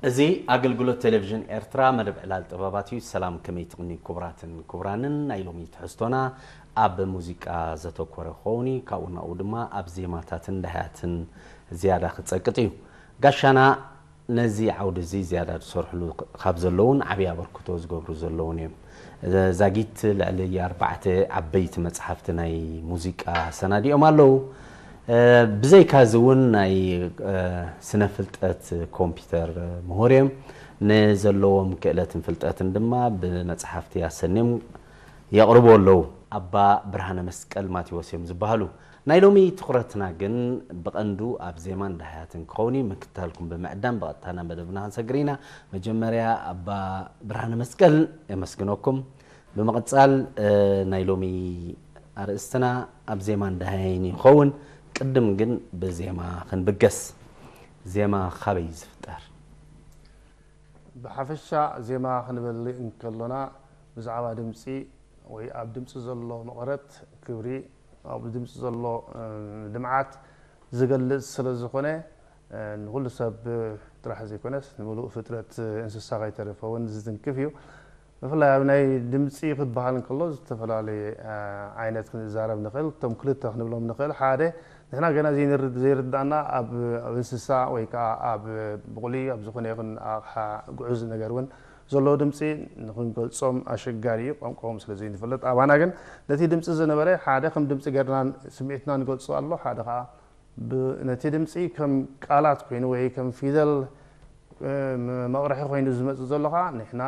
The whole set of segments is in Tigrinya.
እዚ ኣገልግሎት ቴሌቪዥን ኤርትራ መደብ ዕላል ጥበባት እዩ። ሰላም፣ ከመይ ትቕኒ ክቡራትን ክቡራንን? ናይ ሎሚ ትሕዝቶና ኣብ ሙዚቃ ዘተኮረ ክኸውን እዩ። ካብኡ ናብኡ ድማ ኣብ ዜማታትን ዳህያትን ዝያዳ ክጸቅጥ እዩ። ጋሻና ነዚ ዓውዲ እዚ ዝያዳ ዝሰርሕሉ ካብ ዘለውን ዓብዪ ኣበርክቶ ዝገብሩ ዘለውን እዮም። ዛጊት ልዕሊ ኣርባዕተ ዓበይቲ መጽሓፍቲ ናይ ሙዚቃ ሰናዲኦም ኣለዉ። ብዘይካ እዚ እውን ናይ ስነ ፍልጠት ኮምፒውተር ምሁር እዮም። ንዘለዎም ክእለትን ፍልጠትን ድማ ብመጽሓፍቲ ኣሰንዮም የቕርቡ ኣለዉ። ኣባ ብርሃነ መስቀል ማቴዎስ እዮም ዝበሃሉ። ናይ ሎሚ ትኹረትና ግን ብቐንዱ ኣብ ዜማን ዳህያትን ክኸውን እዩ። ምክትታልኩም ብምዕዳም ብቐጥታ ናብ መደብና ክንሰግር ኢና። መጀመርያ ኣባ ብርሃነ መስቀል የመስግነኩም። ብምቕጻል ናይ ሎሚ ኣርእስትና ኣብ ዜማን ዳህያይን ይኸውን። ቅድም ግን ብዜማ ክንብገስ። ዜማ ካበይ እዩ ዝፍጠር? ብሓፈሻ ዜማ ክንብል እንከሎና ብዛዕባ ድምፂ ወይ ኣብ ድምፂ ዘሎ መቐረት ክብሪ፣ ኣብ ድምፂ ዘሎ ልምዓት ዝገልፅ ስለ ዝኾነ ንኩሉ ሰብ ጥራሕ ዘይኮነስ ንምሉእ ፍጥረት እንስሳ ከይተረፈ እውን ዝትንክፍ እዩ። ብፍላይ ኣብ ናይ ድምፂ ክበሃል እንከሎ ዝተፈላለየ ዓይነት ክንዛረብ ንኽእል። እቶም ክልተ ክንብሎም ንኽእል። ሓደ ንሕና ገና ዘይርዳእና ኣብ እንስሳ ወይ ከዓ ኣብ ብቑሊ ኣብ ዝኾነ ይኹን ኣቕሓ ግዑዝ ነገር እውን ዘለዎ ድምፂ ንክንገልፆም ኣሸጋሪ እዩ፣ ቋንቋኦም ስለ ዘይንፈልጥ። ኣባና ግን ነቲ ድምፂ ዝነበረ ሓደ ከም ድምፂ ገርና ስምዒትና ንገልፆ ኣሎ፣ ሓደ ከዓ ነቲ ድምፂ ከም ቃላት ኮይኑ ወይ ከም ፊደል መቕርሒ ኮይኑ ዝመፅእ ዘሎ ከዓ ንሕና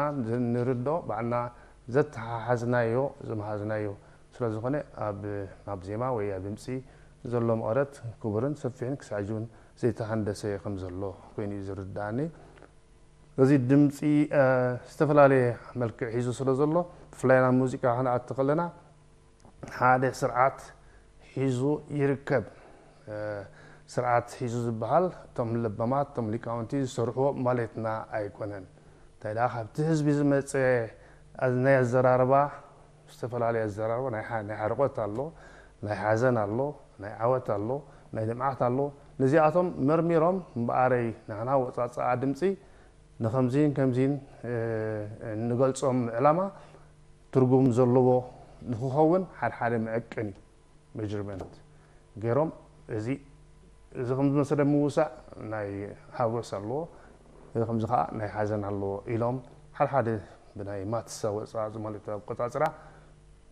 ንርዶ ባዕልና ዘተሓሓዝናዮ ዝመሃዝናዮ ስለ ዝኾነ ኣብ ዜማ ወይ ኣብ ድምፂ ዘሎ መቐረት ክቡርን ሰፊሕን ክሳዕ ሕጂ እውን ዘይተሃንደሰ ከም ዘሎ ኮይኑ እዩ ዝርድኣኒ። እዚ ድምፂ ዝተፈላለየ መልክዕ ሒዙ ስለ ዘሎ ብፍላይ ናብ ሙዚቃ ክንኣቲ ከለና ሓደ ስርዓት ሒዙ ይርከብ። ስርዓት ሒዙ ዝበሃል እቶም ለባማት እቶም ሊቃውንቲ ዝሰርሕዎ ማለትና ኣይኮነን። እንታይ ደኣ ካብቲ ህዝቢ ዝመፀ ናይ ኣዘራርባ ዝተፈላለየ ኣዘራርባ ናይ ሓርቆት ኣሎ፣ ናይ ሓዘን ኣሎ፣ ናይ ዓወት ኣሎ፣ ናይ ልምዓት ኣሎ። ነዚኣቶም መርሚሮም እምበኣረይ ንሕና ወፃፅኣ ድምፂ ንኸምዚን ከምዚን ንገልፆም ዕላማ ትርጉም ዘለዎ ንክኸውን ሓድሓደ መዐቀኒ መጀርመንት ገይሮም እዚ እዚ ከም ዝመሰለ ምውሳእ ናይ ሓጎስ ኣለዎ፣ እዚ ከምዚ ከዓ ናይ ሓዘን ኣለዎ ኢሎም ሓድሓደ ብናይ ማትስ ኣወፃፅኣ ማለት ኣቆፃፅራ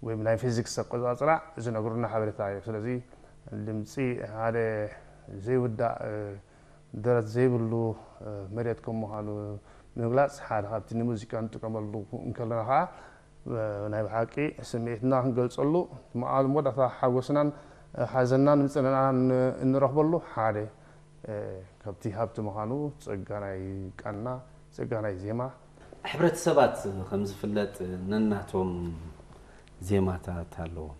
ወይ ብናይ ፊዚክስ ኣቆፃፅራ ዝነግሩና ሓበሬታ እዩ። ስለዚ ድምፂ ሓደ ዘይውዳእ ደረት ዘይብሉ መሬት ከም ምዃኑ ንምግላፅ ሓደ ካብቲ ንሙዚቃ ንጥቀመሉ እንከለና ከዓ ናይ ብሓቂ ስምዒትና ክንገልፀሉ መወዳእታ ሓጎስናን ሓዘንናን ምፅንናን እንረኽበሉ ሓደ ካብቲ ሃብቲ ምዃኑ ጸጋ ናይ ቃና ጸጋ ናይ ዜማ ሕብረተሰባት ከም ዝፍለጥ ነናቶም ዜማታት ኣለዎም።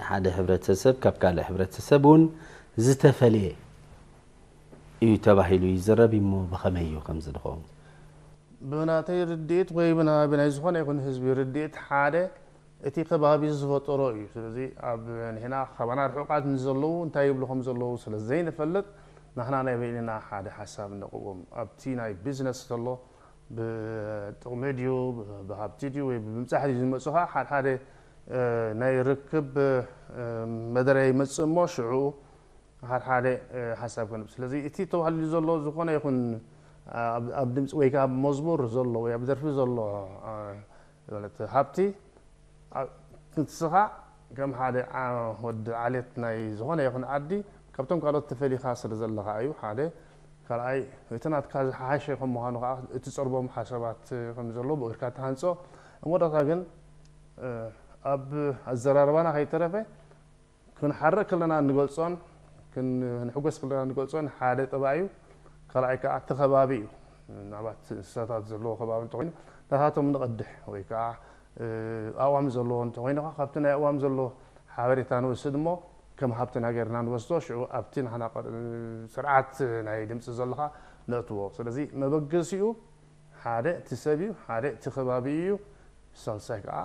ሓደ ሕብረተሰብ ካብ ካልእ ሕብረተሰብ እውን ዝተፈለየ እዩ ተባሂሉ ይዝረብ እሞ ብኸመይ እዩ ከምዚ ዝኸውን? ብናተይ ርድኢት ወይ ብና- ብናይ ዝኾነ ይኹን ህዝቢ ርድኢት ሓደ እቲ ከባቢ ዝፈጠሮ እዩ። ስለዚ ኣብ ንሕና ካባና ርሑቓት ንዘለዉ እንታይ ይብሉ ከም ዘለዉ ስለ ዘይንፈልጥ ናህና ናይ በይንና ሓደ ሓሳብ ነቕውም። ኣብቲ ናይ ቢዝነስ ዘሎ ብጥቕሚ ድዩ ብሃብቲ ድዩ ወይ ብምብፃሕ ድዩ ዝመፁ ከዓ ሓደ ሓደ ናይ ርክብ መደረ ይመፅእ እሞ ሽዑ ሓደ ሓደ ሓሳብ ክንብ ስለዚ እቲ ተባህሉ ዘሎ ዝኾነ ይኹን ኣብ ድምፂ ወይ ከዓ ኣብ መዝሙር ዘሎ ወይ ኣብ ደርፊ ዘሎ ማለት ሃብቲ ንስኻ ከም ሓደ ወዲ ዓሌት ናይ ዝኾነ ይኹን ዓዲ ካብቶም ካልኦት ተፈሊኻ ስለ ዘለኻ እዩ ሓደ ካልኣይ እቲ ናትካ ዝሓሸ ከም ምዃኑ ከዓ እቲ ፀርቦም ሓሳባት ከም ዘሎ ብእግርካ ትሃንፆ እሞዳታ ግን ኣብ ኣዘራርባና ከይተረፈ ክንሓርቕ ከለና እንገልጾን ክንሕጎስ ከለና እንገልጾን ሓደ ጠባይ እዩ። ካልኣይ ከዓ እቲ ከባቢ እዩ። ምናልባት እንስሳታት ዘለዎ ከባቢ እንተኮይኑ ናታቶም ንቐድሕ ወይ ከዓ ኣእዋም ዘለዎ እንተኮይኑ ከዓ ካብቲ ናይ ኣእዋም ዘሎ ሓበሬታ ንወስድ እሞ ከም ሃብትና ገይርና ንወስዶ ሽዑ ኣብቲ ንሕና ስርዓት ናይ ድምፂ ዘለካ ነእትዎ። ስለዚ መበገሲኡ ሓደ እቲ ሰብ እዩ፣ ሓደ እቲ ከባቢ እዩ፣ ሳልሳይ ከዓ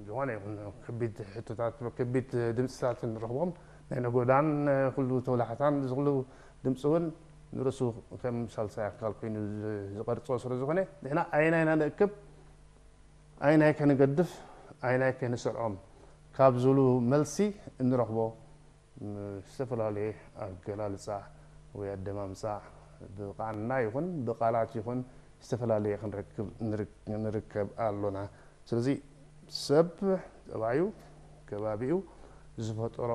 ዝኾነ ይኹን ከቢድ ሕቶታት ከቢድ ድምፅታት ንረኽቦም ናይ ነጎዳን ኩሉ ተውላሕታን እዚ ኩሉ ድምፂ እውን ንርእሱ ከም ሳልሳይ ኣካል ኮይኑ ዝ- ዝቐርጾ ስለ ዝኾነ፣ ንሕና ኣይናይ ኢና ንእክብ፣ ኣይናይ ከንገድፍ፣ ኣይናይ ከንስዕሮም ካብ ዝብሉ መልሲ እንረኽቦ፣ ም- ዝተፈላለየ ኣገላልጻ ወይ ኣደማምጻ ብቓና ይኹን ብቓላት ይኹን ዝተፈላለየ ክንረክብ ንርክ- ንርከብ ኣሎና። ስለዚ ሰብ ጠባዩ፣ ከባቢኡ ዝፈጠሮ፣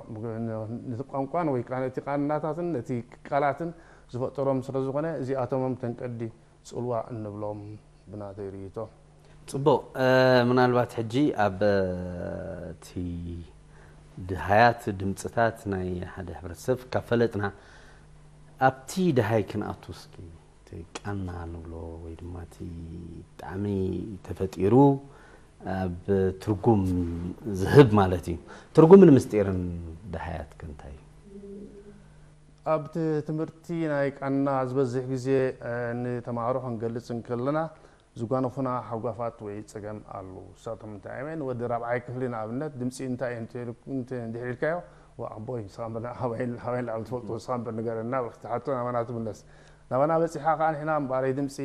ነቲ ቋንቋን ወይ ከዓ ነቲ ቃናታትን ነቲ ቃላትን ዝፈጠሮም ስለ ዝኾነ፣ እዚኣቶምም ተንቀዲ ጽልዋ እንብሎም ብናተይ ርእይቶ። ጽቡቕ። ምናልባት ሕጂ ኣብ እቲ ድሃያት ድምፅታት ናይ ሓደ ሕብረተሰብ ካብ ፈለጥና፣ ኣብቲ ድሃይ ክንኣቱ እስኪ፣ እቲ ቃና ንብሎ ወይ ድማ እቲ ብጣዕሚ ተፈጢሩ ኣብ ትርጉም ዝህብ ማለት እዩ። ትርጉምን ምስጢርን ድሃያት ከ እንታይ እዩ? ኣብቲ ትምህርቲ ናይ ቃና ዝበዝሕ ግዜ ንተምሃሮ ክንገልጽ እንከለና ዝጓነፉና ሃጓፋት ወይ ጸገም ኣለዉ። ንሳቶም እንታይ እዮም? ንወዲ ራብዓይ ክፍሊ ንኣብነት ድምጺ እንታይ እዩ እንተ- እንተ- እንድሕር ኢልካዮ፣ "ዋ ኣቦይ፣ ንስኻ እምበር ኣበይ ኣበይ ንላዕሊ ትፈልጦ፣ ንስኻ እምበር ንገረና" ብለካ ትሓቶ ናባና ትምለስ። ናባና በጺሓ ከኣ ንሕና እምበኣረይ ድምጺ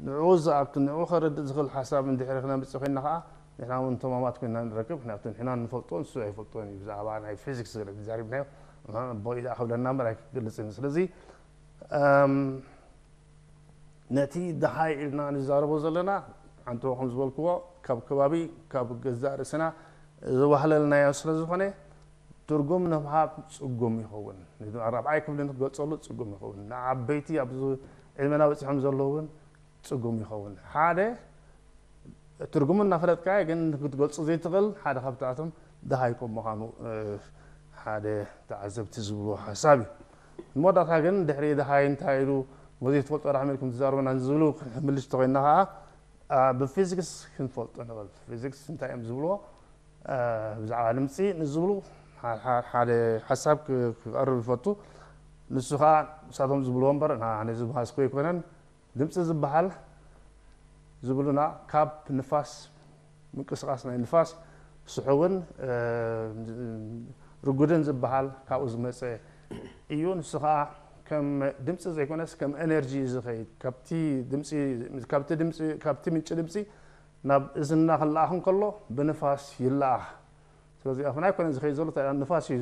ንዕኡ ዝኣክል፣ ንዕኡ ከረድእ ዝኽእል ሓሳብ እንድሕር ክነምጽእ ኮይንና ከኣ ንሕና እውን ተማማት ኮይንና ንረክብ። ምክንያቱ ንሕና ንፈልጦ ንሱ ኣይፈልጦን እዩ። ብዛዕባ ናይ ፊዚክስ ገለ ተዛሪብናዮ፣ ኣቦይ ደኣ ክብለና እምበር ኣይክገልጽን እዩ። ስለዚ ነቲ ደሃይ ኢልና ንዛረቦ ዘለና፣ ዓንተቦ ከም ዝበልክዎ፣ ካብ ከባቢ፣ ካብ ገዛእ ርእስና ዝዋህለልናዮ ስለ ዝኾነ፣ ትርጉም ንምሃብ ጽጉም ይኸውን። ራብዓይ ክፍሊ ንክትገልጸሉ ጽጉም ይኸውን። ንዓበይቲ ኣብዚ ዕድመና በጺሖም ዘለዉ እውን ጽጉም ይኸውን። ሓደ ትርጉሙ እናፈለጥካዮ ግን ክትገልጾ ዘይትኽእል ሓደ ካብታቶም ደሃይ ከም ምዃኑ ሓደ ተዓዘብቲ ዝብልዎ ሓሳብ እዩ። መወዳእታ ግን ድሕሪ ደሃይ እንታይ ኢሉ፣ መዚ ትፈልጦ ራሕሚ ኢልኩም ትዛረቡና ዝብሉ ክንምልሽ ተኮይንና ከዓ ብፊዚክስ ክንፈልጦ ንኽእል። ፊዚክስ እንታይ እዮም ዝብልዎ ብዛዕባ ድምፂ ንዝብሉ ሓደ ሓሳብ ክቐርብ ይፈቱ። ንሱ ከዓ ንሳቶም ዝብልዎ እምበር ኣነ ዝብሃዝኮ ኣይኮነን። ድምፂ ዝበሃል ዝብሉና ካብ ንፋስ፣ ምንቅስቃስ ናይ ንፋስ፣ ስሑውን ርጉድን ዝበሃል ካብኡ ዝመፀ እዩ። ንሱ ከዓ ከም ድምፂ ዘይኮነስ ከም ኤነርጂ እዩ ዝኸይድ። ካብቲ ድምፂ፣ ካብቲ ድምፂ፣ ካብቲ ምንጪ ድምፂ ናብ እዝንና ክለኣኽ እንከሎ ብንፋስ ይለኣኽ። ስለዚ ኣፍና ኣይኮነን ዝኸይድ ዘሎ፣ እንታይ ንፋስ እዩ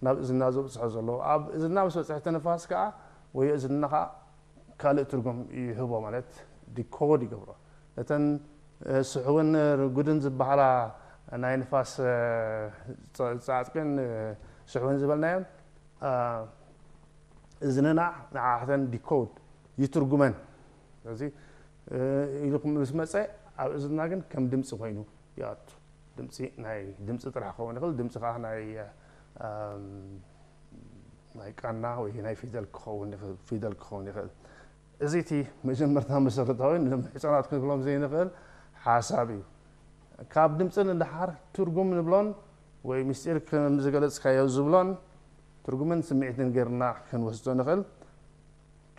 ናብ እዝንና ዘብፅሖ ዘሎ። ኣብ እዝንና ምስ በፅሐ እቲ ንፋስ ከዓ ወይ እዝንና ከዓ ካልእ ትርጉም ይህቦ፣ ማለት ዲኮድ ይገብሮ። ነተን ስሑውን ርጉድን ዝበሃላ ናይ ንፋስ ፃዕፅቅን ስሑውን ዝበልናየን እዝንና ንዓተን ዲኮድ ይትርጉመን። ስለዚ ኢሉ ምስ መፀ ኣብ እዝንና ግን ከም ድምፂ ኮይኑ ይኣቱ። ድምፂ ናይ ድምፂ ጥራሕ ክኸውን ይኽእል። ድምፂ ከዓ ናይ ናይ ቃና ወይ ናይ ፊደል ክኸውን ይኽእል፣ ፊደል ክኸውን ይኽእል። እዚ እቲ መጀመርታ መሰረታዊ ንህፃናት ክንብሎም ዘይንኽእል ሓሳብ እዩ። ካብ ድምፂ ንደሓር ትርጉም ንብሎን ወይ ምስጢር ከም ዝገለፅካዮ ዝብሎን ትርጉምን ስምዒትን ጌርና ክንወስዶ ንኽእል።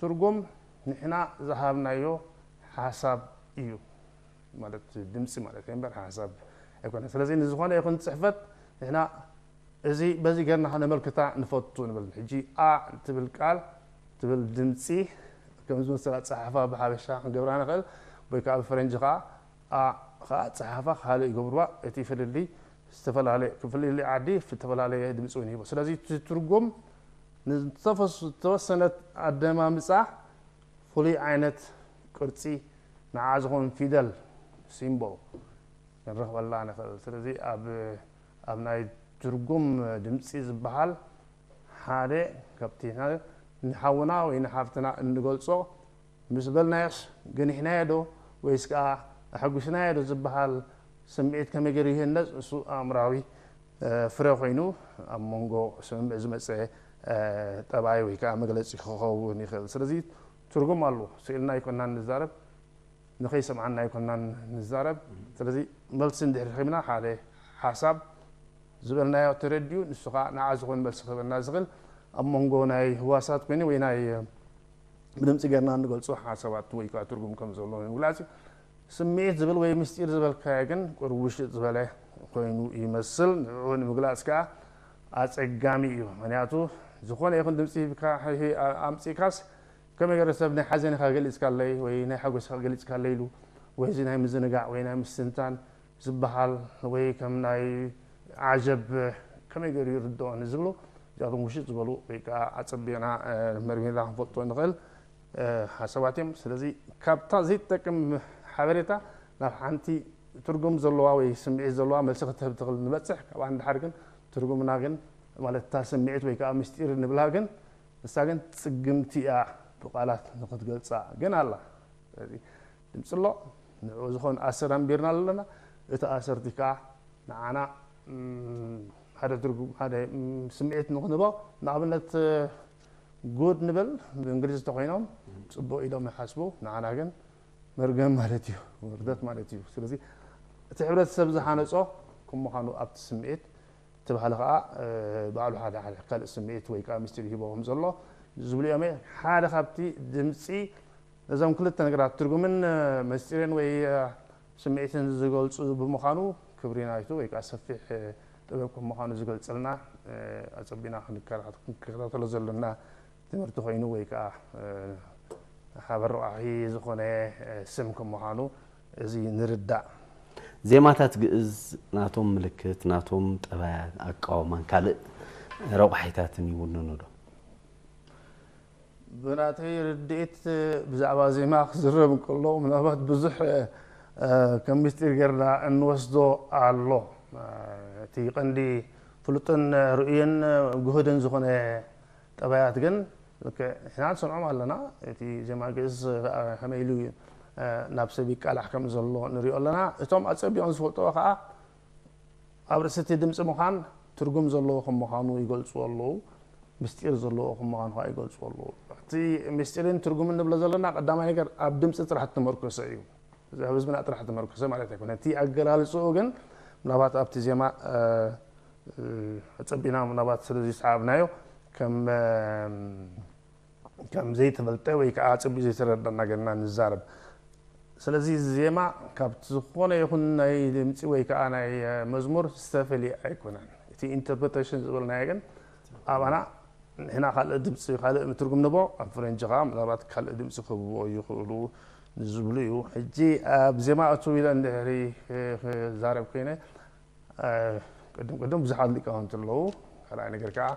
ትርጉም ንሕና ዝሃብናዮ ሓሳብ እዩ፣ ማለት ድምፂ ማለት እዩ እምበር ሓሳብ ኣይኮነ። ስለዚ ንዝኾነ ይኹን ፅሕፈት ንሕና እዚ በዚ ጌርና ከነመልክታ ንፈቱ ንብል። ሕጂ ኣ ትብል ቃል ትብል ድምፂ ከም ዝመስል ኣፀሓሕፋ ብሓበሻ ክንገብራ ንኽእል፣ ወይ ከዓ ብፈረንጂ ከዓ ኣ ከዓ ኣፀሓሕፋ ካልእ ይገብርዋ። እቲ ፍልልይ ዝተፈላለየ፣ ፍልልይ ዓዲ ዝተፈላለየ ድምፂ እውን ይህቦ። ስለዚ እቲ ትርጉም ንዝተፈስ- ዝተወሰነት ኣደማምፃ ፍሉይ ዓይነት ቅርፂ ንዓ ዝኾን ፊደል፣ ሲምቦል፣ ክንረኽበላ ንኽእል። ስለዚ ኣብ ኣብ ናይ ትርጉም ድምፂ ዝበሃል ሓደ ካብቲ ንሓውና ወይ ንሓፍትና እንገልፆ ምስ በልናዮስ ገኒሕናዮ ዶ ወይስ ከዓ ኣሐጒስናዮ ዶ ዝበሃል ስምዒት ከመይ ገይሩ ይህነፅ? እሱ ኣእምራዊ ፍረ ኮይኑ ኣብ መንጎ ስምምዕ ዝመፀ ጠባይ ወይ ከዓ መግለፂ ክኸውን ይኽእል። ስለዚ ትርጉም ኣለዎ። ስኢልና ኣይኮናን ንዛረብ፣ ንኸይሰምዓና ኣይኮናን ንዛረብ። ስለዚ መልሲ እንድሕር ረኺብና ሓደ ሓሳብ ዝበልናዮ ተረዲኡ ንሱ ከዓ ንዓ ዝኾን መልሲ ክህበና ዝኽእል ኣብ መንጎ ናይ ህዋሳት ኮይኑ ወይ ናይ ብድምፂ ጌርና እንገልፆ ሓሳባት ወይ ከዓ ትርጉም ከም ዘሎ ንምግላፅ እዩ። ስምዒት ዝብል ወይ ምስጢር ዝበልካዮ ግን ቁሩብ ውሽጥ ዝበለ ኮይኑ ይመስል። ንዕኡ ንምግላፅ ከዓ ኣፀጋሚ እዩ። ምክንያቱ ዝኾነ ይኹን ድምፂ ሂብካ ከመይ ገይረ ሰብ ናይ ሓዘንካ ገሊጽካለይ ወይ ናይ ሓጎስካ ገሊጽካለይ ኢሉ ወይ እዚ ናይ ምዝንጋዕ ወይ ናይ ምስትንታን ዝበሃል ወይ ከም ናይ ዓጀብ ከመይ ገይሩ ይርድኦ ንዝብሉ እዚኣቶም ውሽጥ ዝበሉ ወይ ከዓ ኣጸቢቕና መርሚርና ክንፈልጦ ንኽእል ሓሳባት እዮም። ስለዚ ካብታ ዘይትጠቅም ሓበሬታ ናብ ሓንቲ ትርጉም ዘለዋ ወይ ስምዒት ዘለዋ መልሲ ክትህብ ትኽእል ንበፅሕ። ካብኣ ንድሓር ግን ትርጉምና ግን ማለት እታ ስምዒት ወይ ከዓ ምስጢር ንብላ ግን ንሳ ግን ፅግምቲ እያ ብቃላት ንክትገልፃ ግን ኣላ። ስለዚ ድምፂ ኣሎ፣ ንዕኡ ዝኾን ኣሰር ኣንቢርና ኣለና። እቲ ኣሰርቲ ከዓ ንዓና ሓደ ትርጉም ሓደ ስምዒት ንክንህቦ ንኣብነት ጉድ ንበል ብእንግሊዝ እንተኮይኖም ፅቡቅ ኢሎም ይሓስቡ፣ ንዓና ግን መርገም ማለት እዩ፣ ውርደት ማለት እዩ። ስለዚ እቲ ሕብረተሰብ ዝሃነፆ ከም ምዃኑ ኣብቲ ስምዒት እቲ ባህሊ ከዓ ባዕሉ ሓደ ሓደ ካልእ ስምዒት ወይ ከዓ ምስጢር ይህቦ ከም ዘሎ ዝብሉ እዮም። ሓደ ካብቲ ድምፂ ነዞም ክልተ ነገራት ትርጉምን ምስጢርን ወይ ስምዒትን ዝገልፁ ብምዃኑ ክብሪ ናይቱ ወይ ከዓ ሰፊሕ ጥበብ ከም ምዃኑ ዝገልፀልና ኣፀቢና ክንከታተሎ ዘለና ትምህርቲ ኮይኑ ወይ ከዓ ሓበረቋሒ ዝኾነ ስም ከም ምዃኑ እዚ ንርዳእ። ዜማታት ግእዝ ናቶም ምልክት፣ ናቶም ጠባያት፣ ኣቃውማን ካልእ ረቋሒታትን ይውንኑ ዶ? ብናተይ ርድኢት ብዛዕባ ዜማ ክዝረብ እንከሎ ምናልባት ብዙሕ ከም ምስጢር ጌርና እንወስዶ ኣሎ። እቲ ቀንዲ ፍሉጥን ርእዩን ግሁድን ዝኾነ ጠባያት ግን ንሕና ንሰምዖም ኣለና። እቲ ዜማ ግእዝ ከመይ ኢሉ ናብ ሰብ ይቃላሕ ከም ዘሎ ንሪኦ ኣለና። እቶም ኣጸቢቖም ዝፈልጥዎ ከዓ ኣብ ርእሲ እቲ ድምፂ ምዃን ትርጉም ዘለዎ ከም ምዃኑ ይገልፅዎ ኣለዉ። ምስጢር ዘለዎ ከም ምዃኑ ከዓ ይገልፅዎ ኣለዉ። እቲ ምስጢርን ትርጉምን ንብሎ ዘለና ቀዳማይ ነገር ኣብ ድምፂ ጥራሕ እተመርኮሰ እዩ። እዚ ኣብ ህዝብና ጥራሕ እተመርኮሰ ማለት ኣይኮነ። እቲ ኣገላልፅኡ ግን ምናልባት ኣብቲ ዜማ ኣፀቢና ምናልባት ስለዚ ሰዓብናዮ ከም ከም ዘይተፈልጠ ወይ ከዓ ኣፀቢቑ ዘይተረዳእና ገርና ንዛረብ። ስለዚ ዜማ ካብ ዝኾነ ይኹን ናይ ድምፂ ወይ ከዓ ናይ መዝሙር ዝተፈልየ ኣይኮነን። እቲ ኢንተርፕሬቴሽን ዝበልናዮ ግን ኣባና ንሕና ካልእ ድምፂ ካልእ ትርጉም ንቦ ኣብ ፈረንጂ ከዓ ምናልባት ካልእ ድምፂ ክህብዎ ይኽእሉ ንዝብሉ እዩ። ሕጂ ኣብ ዜማ እቱ ኢለ እንድሕሪ ክዛረብ ኮይነ ቅድም ቅድም ብዙሓት ሊቃውንቲ ኣለዉ። ካልኣይ ነገር ከዓ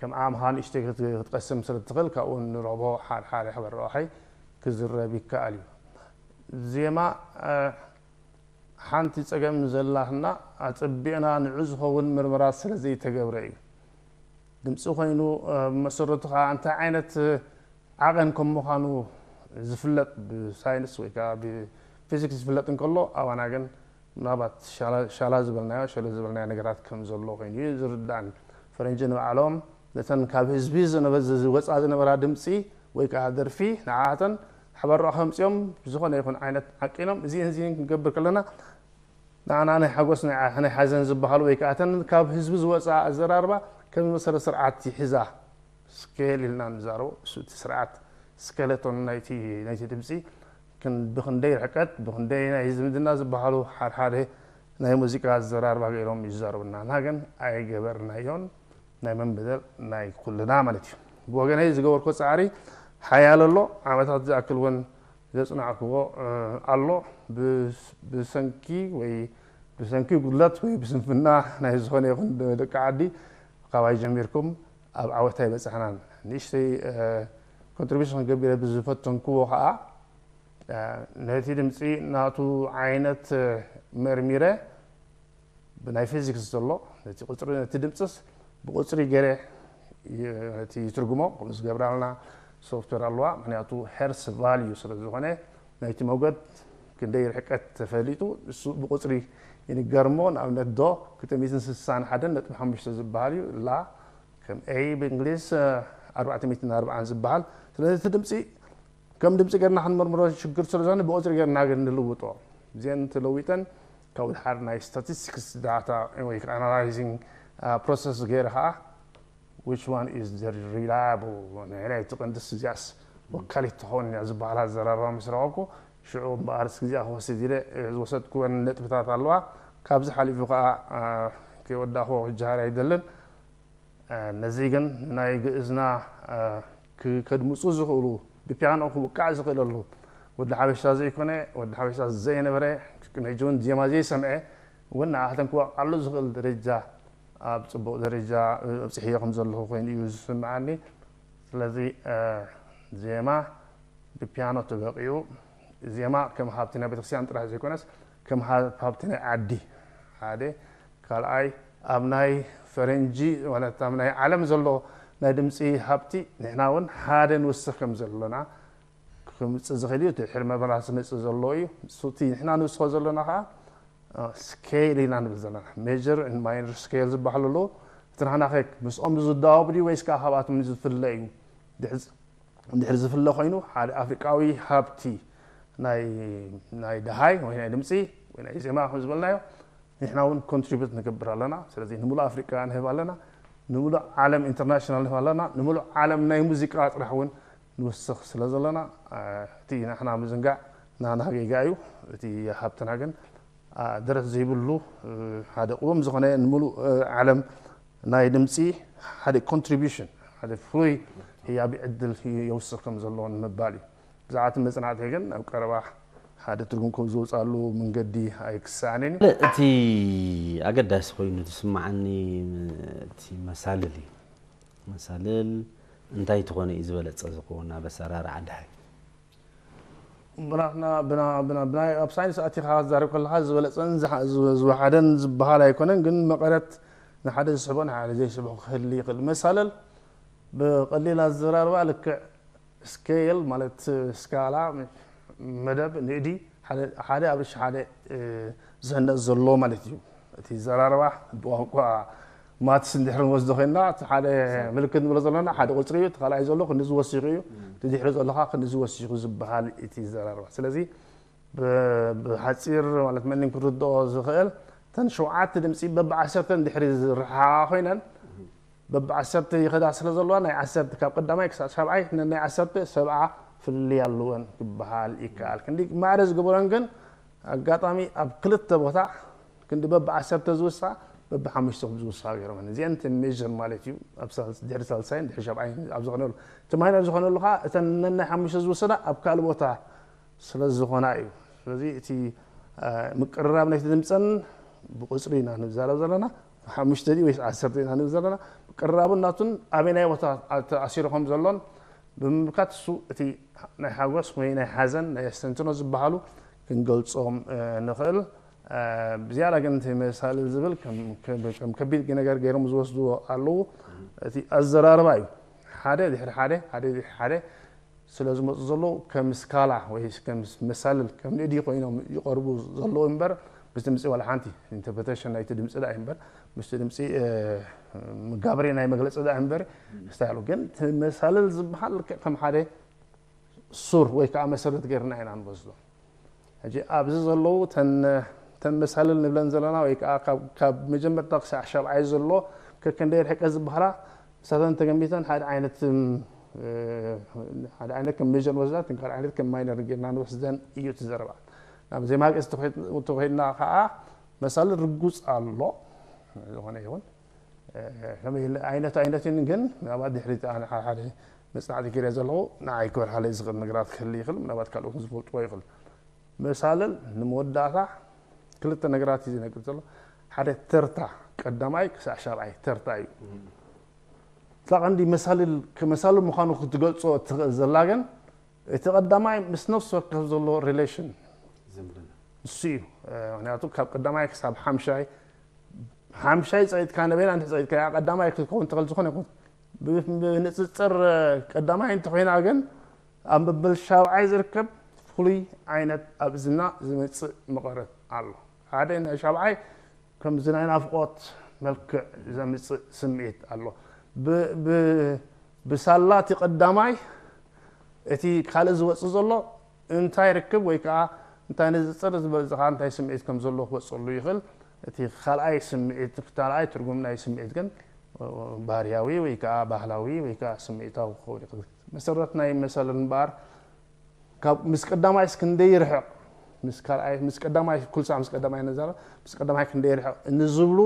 ከም ኣምሃ ንእሽተይ ክትቀስም ስለ ትኽእል ካብኡ ንረኽቦ ሓደ ሓደ ሕበር ረብሓይ ክዝረብ ይከኣል እዩ። ዜማ ሓንቲ ፀገም ዘላትና ኣፀቢቕና ንዑ ዝኸውን ምርመራ ስለ ዘይተገብረ እዩ። ድምፂ ኮይኑ መሰረቱ ከዓ እንታይ ዓይነት ዓቐን ከም ምዃኑ ዝፍለጥ ብሳይንስ ወይ ከዓ ብፊዚክስ ዝፍለጥ እንከሎ ኣባና ግን ምናልባት ሻላ ዝበልናዮ ሸለ ዝበልናዮ ነገራት ከም ዘሎ ኮይኑ እዩ ዝርዳእን። ፈረንጂ ንባዕሎም ነተን ካብ ህዝቢ ዝወፃ ዝነበራ ድምፂ ወይ ከዓ ደርፊ ንዓተን ሓበራኡ ከምፅኦም ዝኾነ ይኹን ዓይነት ዓቂኖም እዚን እዚን ክንገብር ከለና ንዓና ናይ ሓጎስ ናይ ሓዘን ዝበሃሉ ወይ ከዓ እተን ካብ ህዝቢ ዝወፃ ኣዘራርባ ከም መሰረት ስርዓት ይሕዛ ስኬል ኢልና ንዛረቦ እሱ እቲ ስርዓት ስኬለቶን ናይቲ ናይቲ ድምፂ ብክንደይ ርሕቀት ብክንደይ ናይ ዝምድና ዝበሃሉ ሓድሓደ ናይ ሙዚቃ ኣዘራርባ ገይሮም ይዛረቡና እና ግን ኣይገበርናዮን ናይ መን በደል ናይ ኩልና ማለት እዩ። ብወገነይ ዝገበርኮ ፃዕሪ ሓያል ኣሎ። ዓመታት ዝኣክል እውን ዘፅናዕክዎ ኣሎ። ብሰንኪ ወይ ብሰንኪ ጉድለት ወይ ብስንፍና ናይ ዝኾነ ይኹን ደቂ ዓዲ ካባይ ጀሚርኩም ኣብ ዓወት ኣይበፃሕናን። ንእሽተይ ኮንትሪቢሽን ክገብር ብዝፈተንክዎ ከዓ ነቲ ድምፂ ናቱ ዓይነት መርሚረ ብናይ ፊዚክስ ዘሎ ነቲ ቁፅሪ ነቲ ድምፅስ ብቁፅሪ ገይረ ነቲ ይትርጉሞ ከምኡ ዝገብራልና ሶፍትዌር ኣለዋ። ምክንያቱ ሄርስ ቫልዩ ስለ ዝኾነ ናይቲ ሞገድ ክንደይ ርሕቀት ተፈሊጡ እሱ ብቁፅሪ ይንገር እሞ ንኣብነት ዶ ክልተ ሚእትን ስሳን ሓደን ነጥቢ ሓሙሽተ ዝበሃል እዩ ላ ከም ኤ ብእንግሊዝ ኣርባዕተ ሚእትን ኣርባዓን ዝበሃል። ስለዚ እቲ ድምፂ ከም ድምፂ ገርና ክንመርምሮ ሽግር ስለ ዝኾነ ብቁፅሪ ገርና ግን ንልውጦ እዚአን ተለዊጠን ካብ ድሓር ናይ ስታቲስቲክስ ዳታ ወይ ኣናላይዚንግ ፕሮሰስ ገይረ ከዓ which one is the reliable ናይ እቲ ቅንድስ እዚኣስ ወካሊት ትኸውን እያ ዝበሃል ኣዘራርባ ምስ ረኸብኩ ሽዑ እምበኣርስ ግዜኣ ክወስድ ኢለ ዝወሰድኩወን ነጥብታት ኣለዋ። ካብዚ ሓሊፉ ከዓ ከይወዳእክዎ ክጀሃር ኣይደልን። ነዚ ግን ናይ ግእዝና ከድምፁ ዝኽእሉ፣ ብፒያኖ ክውቃዕ ዝኽእለሉ፣ ወዲ ሓበሻ ዘይኮነ፣ ወዲ ሓበሻ ዘይነበረ፣ ቅድሚ ሕጂ እውን ዜማ ዘይሰምዐ እውን ንኣሕተን ክወቃሉ ዝኽእል ደረጃ፣ ኣብ ፅቡቕ ደረጃ ኣብፅሕዮ ከም ዘለኹ ኮይኑ እዩ ዝስምዓኒ። ስለዚ ዜማ ብፒያኖ ተበቂዑ፣ ዜማ ከም ሃብቲ ናይ ቤተክርስትያን ጥራሕ ዘይኮነስ ከም ሃብቲ ናይ ዓዲ ሓደ፣ ካልኣይ ኣብ ናይ ፈረንጂ ማለት ኣብ ናይ ዓለም ዘሎ ናይ ድምፂ ሃብቲ ንሕና እውን ሓደ ንውስኽ ከም ዘለና ክምፅእ ዝኽእል እዩ። እቲ ሕልመ በላ ዝመፅእ ዘሎ እዩ። እቲ ንሕና ንውስኾ ዘለና ከዓ ስኬል ኢና ንብል ዘለና። ሜጀር ማይነር ስኬል ዝበሃሉ ኣለዉ። እቲ ናህናኸ ምስኦም ዝዳወብ ድዩ ወይስ ከዓ ካብኣቶም ዝፍለ እዩ? ድሕሪ ዝፍለ ኮይኑ ሓደ ኣፍሪቃዊ ሃብቲ ናይ ደሃይ ወይ ናይ ድምፂ ወይ ናይ ዜማ ከም ዝበልናዮ ንሕና እውን ኮንትሪቡት ንገብር ኣለና። ስለዚ ንምሉእ ኣፍሪቃ ንህብ ኣለና፣ ንምሉእ ዓለም ኢንተርናሽናል ንህብ ኣለና፣ ንምሉእ ዓለም ናይ ሙዚቃ ጥራሕ እውን ንውስኽ ስለ ዘለና እቲ ንሕና ምዝንጋዕ ናና ጌጋ እዩ። እቲ ሃብትና ግን ደረት ዘይብሉ ሓደ ቅውም ዝኾነ ንምሉእ ዓለም ናይ ድምፂ ሓደ ኮንትሪቢሽን ሓደ ፍሉይ ህያቢ ዕድል የውስኽ ከም ዘለዎ ንምባል እዩ። ብዛዕባ እቲ መፅናዕቲ ግን ኣብ ቀረባ ሓደ ትርጉም ከም ዝወፅኣሉ መንገዲ ኣይክሰኣንን እዩ። እቲ ኣገዳሲ ኮይኑ ዝስምዓኒ እቲ መሳልል እዩ። መሳልል እንታይ ትኾነ እዩ ዝበለፀ ዝኸውን ኣብ ኣሰራርዓ ደሃይ? ብናትና ብና- ብና- ብናይ ኣብ ሳይንስ ኣቲኻ ክትዛረብ ከለኻ ዝበለፀን ዝሓ- ዝ- ዝወሓደን ዝበሃል ኣይኮነን፣ ግን መቐረት ንሓደ ዝስሕቦ ንሓደ ዘይስሕቦ ክህል ይኽእል። መሳለል ብቐሊል ኣዘራርባ ልክዕ ስኬል ማለት ስካላ መደብ ንእዲ ሓደ ሓደ ኣብ ርሺ ሓደ ዝህነፅ ዘሎ ማለት እዩ። እቲ ዘራርባ ብቋንቋ ማትስ እንድሕር ንወስዶ ኮይንና እቲ ሓደ ምልክት ንብሎ ዘለና ሓደ ቁፅሪ እዩ፣ እቲ ካልኣይ ዘሎ ክንዲ ዝወሲኹ እዩ፣ እቲ ድሕሪ ዘሎ ከዓ ክንዲ ዝወሲኹ ዝበሃል እቲ ዘራርባ። ስለዚ ብሓፂር ማለት መኒን ክርድኦ ዝኽእል እተን ሸውዓተ ድምፂ በብዓሰርተ እንድሕር ዝረሓሓቓ ኮይነን በብዓሰርተ ይኸዳ ስለ ዘለዋ ናይ ዓሰርተ ካብ ቀዳማይ ክሳብ ሻብዓይ ነናይ ዓሰርተ ሰብዓ ፍልልይ ኣለወን ክበሃል ይከኣል። ክንዲ ማዕረ ዝገበረን ግን ኣጋጣሚ ኣብ ክልተ ቦታ ክንዲ በብዓሰርተ ዝውሳ በብሓሙሽተ ከም ዝውሳ ገይሮመን። እዚአን እተን ሜጀር ማለት እዩ። ኣብ ሳልስ- ድሕሪ ሳልሳይን ድሕሪ ሻብዓይን ኣብ ዝኾነሉ እቲ ማይነር ዝኾነሉ ከዓ እተን ነናይ ሓሙሽተ ዝውሰዳ ኣብ ካልእ ቦታ ስለ ዝኾና እዩ። ስለዚ እቲ ምቅርራብ ናይቲ ድምፀን ብቁፅሪ ኢና ንዛረብ ዘለና። ሓሙሽተ ድዩ ወይስ ዓሰርተ ኢና ንብል ዘለና? ምቅርራቡን ናቱን ኣበይናይ ቦታ ተኣሲሩ ከም ዘሎን ብምምልካት እሱ እቲ ናይ ሓጎስ ወይ ናይ ሓዘን ናይ ኣስተንትኖ ዝበሃሉ ክንገልፆም ንኽእል። ብዝያዳ ግን እቲ መሳልል ዝብል ከም ከቢድ ነገር ገይሮም ዝወስድዎ ኣለዉ። እቲ ኣዘራርባ እዩ። ሓደ ድሕሪ ሓደ ሓደ ድሕሪ ሓደ ስለ ዝመፁ ዘለዉ ከም ስካላ ወይ ከም መሳልል ከም ንእዲ ኮይኖም ይቐርቡ ዘለዉ እምበር ምስ ድምፂ ዋላ ሓንቲ ኢንተርፕሬቴሽን ናይቲ ድምፂ ዳ እምበር ምስቲ ድምፂ መጋበሪ ናይ መግለፂ ዳ እምበር ስታይሉ ግን እቲ መሳልል ዝበሃል ልክዕ ከም ሓደ ሱር ወይ ከዓ መሰረት ገይርና ኢና ንወስዶ። ሕጂ ኣብዚ ዘለዉ ተን ተን መሳልል ንብለን ዘለና ወይ ከዓ ካብ ካብ መጀመርታ ክሳዕ ሻብዓይ ዘሎ ከከንደይ ርሕቀት ዝበሃላ ንሳተን ተገንቢተን ሓደ ዓይነት ሓደ ዓይነት ከም ሜጀር ንወስዳ እተን ካልእ ዓይነት ከም ማይነር ጌርና ንወስደን እዩ እቲ ዘረባ። ናብ ዜማ ግእዝ ተኾይድና ከዓ መሳልል ርጉፅ ኣሎ ዝኾነ ይኹን ከመይ ኢለ ዓይነት ኣይነትን ግን ምናልባት ድሕሪት ኣነ ሓደ ሓደ መፅናዕቲ ክሪኦ ዘለኹ ንዓይ ክበርሃለይ ዝኽእል ነገራት ክህል ይኽእል ምናልባት ካልኦት ዝፈልጥዎ ይኽእል መሳልል ንመወዳእታ ክልተ ነገራት እዩ ዝነግር ዘሎ ሓደ ተርታ ቀዳማይ ክሳዕ ሻብዓይ ተርታ እዩ እታ ቀንዲ መሳልል መሳልል ምዃኑ ክትገልፆ እትኽእል ዘላ ግን እቲ ቀዳማይ ምስ ነፍሲ ወከፍ ዘሎ ሪሌሽን ዝምድና ንሱ እዩ ምክንያቱ ካብ ቀዳማይ ክሳብ ሓምሻይ ሓምሻይ ፀይጥካ ነበይና እንድሕ ፀይጥካ እያ ቀዳማይ ክትከውን ትኽእል ዝኾነ ይኹን ብንፅፅር ቀዳማይ እንተኮይና ግን ኣብ መበል ሻብዓይ ዝርከብ ፍሉይ ዓይነት ኣብ እዝና ዝመፅእ መቐረት ኣሎ ሓደ ናይ ሻብዓይ ከምዚ ናይ ናፍቆት መልክዕ ዘምፅእ ስምዒት ኣሎ ብሳላ እቲ ቀዳማይ እቲ ካልእ ዝወፅእ ዘሎ እንታይ ርክብ ወይ ከዓ እንታይ ንዝፅር ዝበዝኻ እንታይ ስምዒት ከም ዘለዎ ክወፀሉ ይኽእል እቲ ካልኣይ ስምዒት ካልኣይ ትርጉም ናይ ስምዒት ግን ባህርያዊ ወይ ከዓ ባህላዊ ወይ ከዓ ስምዒታዊ ክኸውን ይኽእል መሰረት ናይ መሰል እምበኣር ካብ ምስ ቀዳማይስ ክንደይ ይርሕቕ ምስ ካልኣይ ምስ ቀዳማይ ኩልሳ ምስ ቀዳማይ ነዛረብ ምስ ቀዳማይ ክንደይ ይርሕቕ ንዝብሉ